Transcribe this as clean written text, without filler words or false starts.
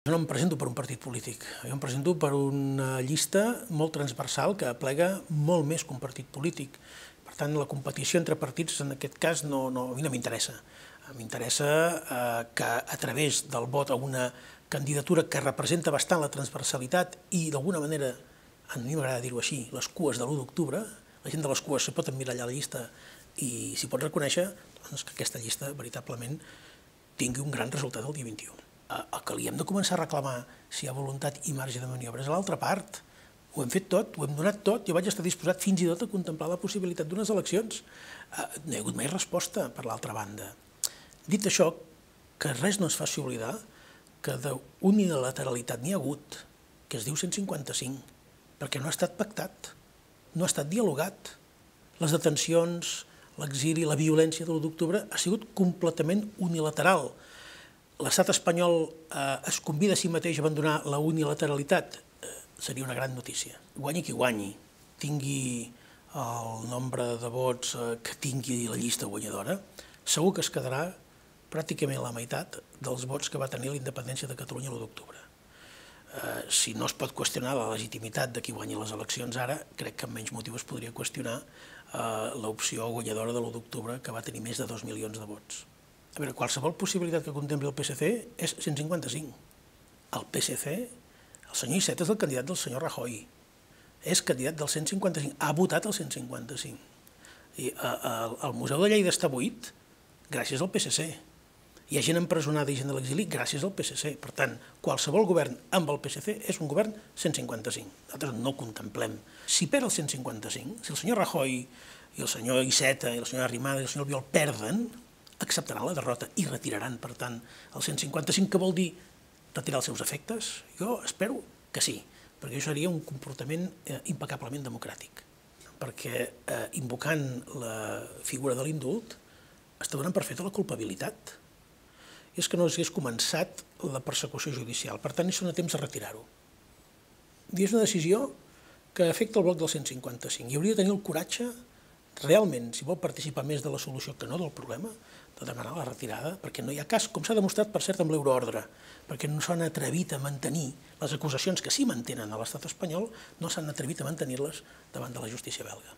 Jo no em presento per un partit polític, jo em presento per una llista molt transversal que aplega molt més que un partit polític. Per tant, la competició entre partits en aquest cas a mi no m'interessa. M'interessa que a través del vot a una candidatura que representa bastant la transversalitat i d'alguna manera, a mi m'agrada dir-ho així, les cues de l'1 d'octubre, la gent de les cues se pot emmirallar la llista i s'hi pot reconèixer doncs, que aquesta llista veritablement tingui un gran resultat el dia 21. El que li hem de començar a reclamar si hi ha voluntat i marge de maniobra és a l'altra part. Ho hem fet tot, ho hem donat tot, jo vaig estar disposat fins i tot a contemplar la possibilitat d'unes eleccions. No hi ha hagut mai resposta per l'altra banda. Dit això, que res no es faci oblidar que d'unilateralitat n'hi ha hagut, que es diu 155, perquè no ha estat pactat, no ha estat dialogat. Les detencions, l'exili, la violència de l'1 d'octubre ha sigut completament unilateral. L'estat espanyol es convida a si mateix a abandonar la unilateralitat, seria una gran notícia. Guanyi qui guanyi, tingui el nombre de vots que tingui la llista guanyadora, segur que es quedarà pràcticament la meitat dels vots que va tenir la independència de Catalunya l'1 d'octubre. Si no es pot qüestionar la legitimitat de qui guanyi les eleccions ara, crec que amb menys motiu es podria qüestionar l'opció guanyadora de l'1 d'octubre, que va tenir més de 2 milions de vots. A veure, qualsevol possibilitat que contempli el PSC és 155. El PSC, el senyor Iceta és el candidat del senyor Rajoy, és candidat del 155, ha votat el 155. I el Museu de Lleida està buit gràcies al PSC. Hi ha gent empresonada i gent de l'exili gràcies al PSC. Per tant, qualsevol govern amb el PSC és un govern 155. Nosaltres no ho contemplem. Si perd el 155, si el senyor Rajoy i el senyor Iceta i la senyora Arrimadas i el senyor Albiol perden, acceptaran la derrota i retiraran, per tant, el 155, que vol dir retirar els seus efectes? Jo espero que sí, perquè això seria un comportament impecablement democràtic, perquè invocant la figura de l'indult està donant per feta la culpabilitat. I és que no s'hagués començat la persecució judicial, per tant, hi són a temps de retirar-ho. I és una decisió que afecta el bloc del 155 i hauria de tenir el coratge realment, si vol participar més de la solució que no del problema, de demanar la retirada, perquè no hi ha cas, com s'ha demostrat, per cert, amb l'euroordre, perquè no s'han atrevit a mantenir les acusacions que sí mantenen a l'estat espanyol, no s'han atrevit a mantenir-les davant de la justícia belga.